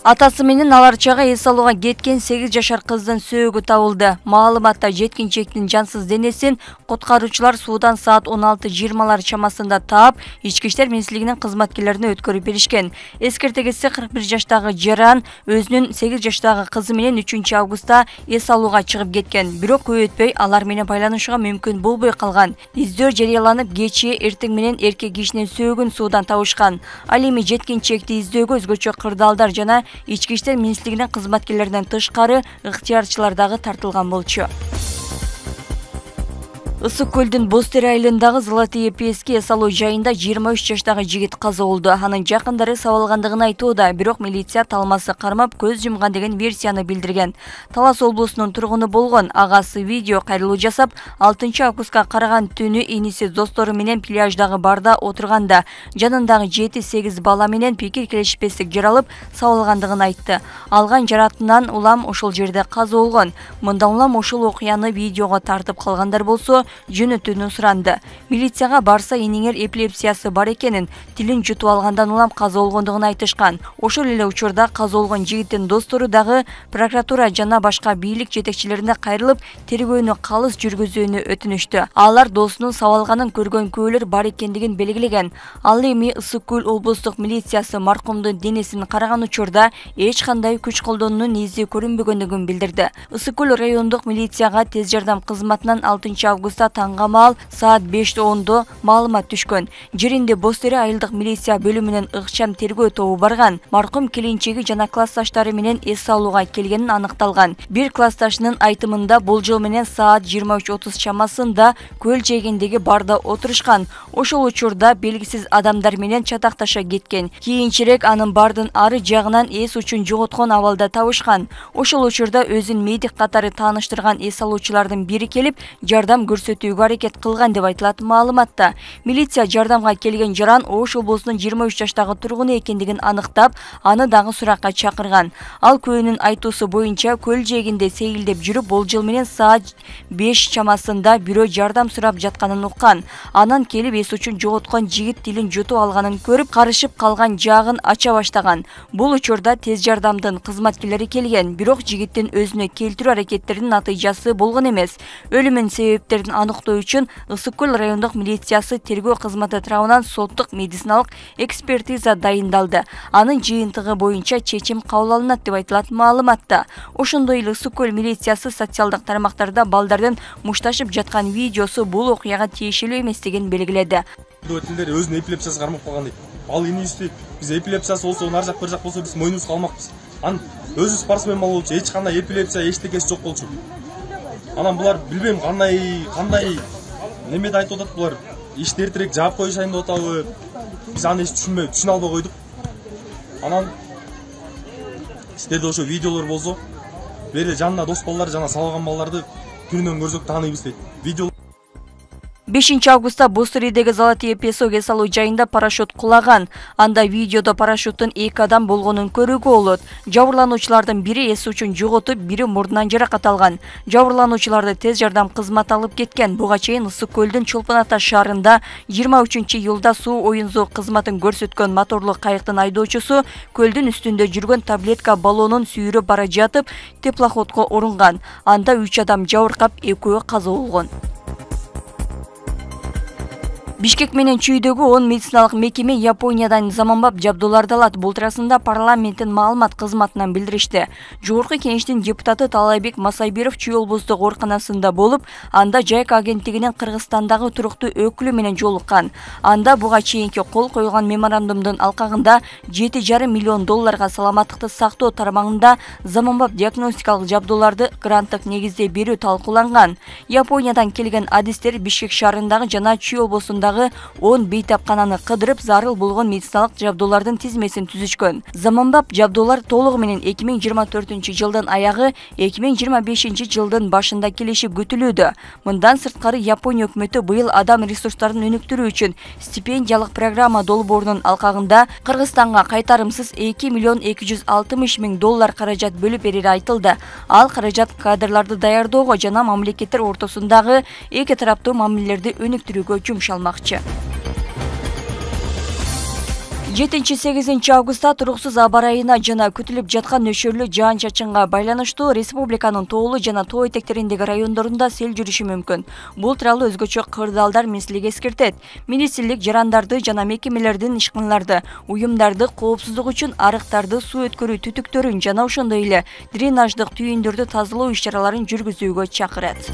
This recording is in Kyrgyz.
Атасы менен алар чага эс алууга кеткен 8 жашар кыздын сөөгү табылды. Маалыматта жеткинчектин жансыз денесин куткаруучулар суудан саат 16:20 чамасында таап, ички иштер министрлигинин кызматкерлерине өткөрүп беришкен. Эскерте кетсе 41 жаштагы жаран өзүнүн 8 жаштагы кызы менен 3 августта эс алууга чыгып кеткен. Бирок көп өтпөй алар менен байланышууга мүмкүн болбой калган. Издөө жарыяланып, кечээ эртең менен эркек кишинин сөөгүн суудан табышкан. Ал эми жеткинчекти издөөгө өзгөчө кырдаалдар жана ички иштер министрлигинин кызматкерлеринен тышкары ыктыярчылар дагы тартылган болчу. Ысык көлдүн Бостери айылындагы Золотые пески эс алуу жайында 23 жаштагы жигит каза болду. Анын жакындары сабалгандыгын айтууда, бирок милиция талмасы кармап көз жумган деген версияны билдирген. Талас облусунун тургуну болгон агасы видео кайрылуу жасап, 6 августка караган түнү иниси достору менен пляждагы барда отурганда жанындагы 7-8 бала менен пикир келишпестик жаралып сабалгандыгын айтты. Алган жаратынан улам ошол жерде каза болгон. Мындан улам ошол окуяны видеого тартып калгандар болсо жөнөтүүнү суранды. Милицияга барса энеңер эпилепсиясы бар экенин, тилин жутуп алгандан улам каза болгондугун айтышкан. Ошол эле учурда каза болгон жигиттин достору дагы прокуратура жана башка бийлик жетекчилерине кайрылып, тергөөнү калыс жүргүзүүнү өтүнүштү. Алар досунун сабалганын көргөн күбөлөр бар экендигин белгилеген. Ал эми Ысык көл облустук милициясы маркумдун денесин караган учурда эч кандай күч колдонуунун изи көрүнбөгөндүгүн билдирди. Ысык көл райондук милицияга тез жардам кызматынан 6 августта таңга маал саат 5:10 маалымат түшкөн. Жеринде Бостери айылдык милиция бөлүмүнүн ыкчам тергөө тобу барган. Маркум келинчеги жана классташтары менен эс алууга келгенин аныкталган. Бир классташынын айтымында болжол менен саат 23:30 чамасында көл жээгиндеги барда отурушкан. Ошол учурда белгисиз адамдар менен чатакташа кеткен. Кийинчерээк анын бардын ары жагынан эс учун жоготкон абалда табышкан. Ошол учурда өзүн медик катары тааныштырган эс алуучулардын бири келип, жардам көрсөтүүгө аракет кылган деп айтылат маалыматта. Милиция жардамга келген жаран Ош облусунун 23 жаштагы тургуну экендигин аныктап, аны дагы суракка чакырган. Ал көөнүн айтуусу боюнча көл жээгинде сейилдеп жүрүп, болжол менен саат 5 чамасында бирөө жардам сурап жатканын уккан. Анан келип эс учун жоготкон жигит тилин жутуп алганын көрүп, карышып калган жаагын ача баштаган. Бул учурда тез жардамдын кызматкерлери келген, бирок жигиттин өзүнө келтирүү аракеттеринин натыйжасы болгон эмес. Өлүмүнүн себептерин аныктоо үчүн Ысык көл райондук милициясы тергөө кызматы тарабынан соттук медициналык экспертиза дайындалды. Анын жыйынтыгы боюнча чечим кабыл алынат деп айтылат маалыматта. Ошондой эле Ысык көл милициясы социалдык тармактарда балдардын мушташып жаткан видеосу бул окуяга тиешелүү эместигин белгиледи. Өтүлдөр өзүнүн эпилепсиясы кармап калган дейт. Ал инисти биз эпилепсиясы болсо, нар жак бир жак болсо биз мойнубузга алмакпыз. Анын өзү спортсмен болчу, эч кандай эпилепсия эчтекеси жок болчу. Анан булар билбейм кандай немеде айтып атат булар. Ишти эртерээк жаап коюшайын деп атабы. Биз аны эч түшүнө албай койдук. Анан сиздерде ошо видеолор болсо, бери жанына дос балдар жана салган балдарды күнүнөн көрсөк тааныйбыз дейт. Видео 5 августта Бостеридеги Золотые песок эс алуу жайында парашют кулаган. Анда видеодо парашюттун 2 адам болгонун көрүүгө болот. Жабырлануучулардын бири эс үчүн жоготуп, бири мурдунан жаракат алган. Жабырлануучуларды тез жардам кызматы алып кеткен. Буга чейин Ысык көлдүн Чолпон Ата шаарында 23-июлда суу оюнзоо кызматын көрсөткөн моторлуу кайыктын айдоочусу көлдүн үстүндө жүргөн таблетка баллонун сүйрөп бара жатып, теплоходко урунган. Анда 3 адам жабыркап, 2-өө каза болгон. Бишкек менен Чүйдөгү 10 медициналык мекеме Япониядан заманбап жабдууларды алат. Бул туурасында парламенттин маалымат кызматынан билдиришти. Жогорку кеңештин депутаты Талайбек Масайбиров Чүй облустук ооруканасында болуп, анда ЖАИК агенттигинин Кыргызстандагы туруктуу өкүлү менен жолуккан. Анда буга чейинки кол коюлган меморандумдун алкагында $7,5 миллион саламаттыкты сактоо тармагында заманбап диагностикалык жабдууларды гранттык негизде берүү талкууланган. Япониядан келген адистер Бишкек шаарындагы жана Чүй облусунда 10 бейтапкананы кыдырып, зарыл болгон медициналык жабдуулардын тизмесин түзүшкөн. Заманбап жабдуулар толугу менен 2024-жылдын аягы 2025-жылдын башында келиши күтүлүүдө. Мындан сырткары Япония өкмөтү быйыл адам ресурстарын өнүктүрүү үчүн стипендиялык программа долбоорунун алкагында Кыргызстанга кайтарымсыз $2,260 миң каражат бөлүп берери айтылды. Ал каражат кадрларды даярдоого жана мамлекеттер ортосундагы эки тараптуу мамилелерди өнүктүрүүгө жумшалмак. 7-8 августта туруксуз аба ырайына жана күтүлүп жаткан нөшөрлүү жаан-чачынга байланыштуу республиканын тоолуу жана тоо этектериндеги райондорунда сел жүрүшү мүмкүн. Бул тууралуу өзгөчө кырдаалдар министрлиги эскертет. Министрлик жарандарды жана мекемелердин ишканаларды, уюмдарды коопсуздук үчүн арыктарды, суу өткөрүү түтүктөрүн жана ошондой эле дренаждык түйүндөрдү тазалоо иш-чараларын жүргүзүүгө чакырат.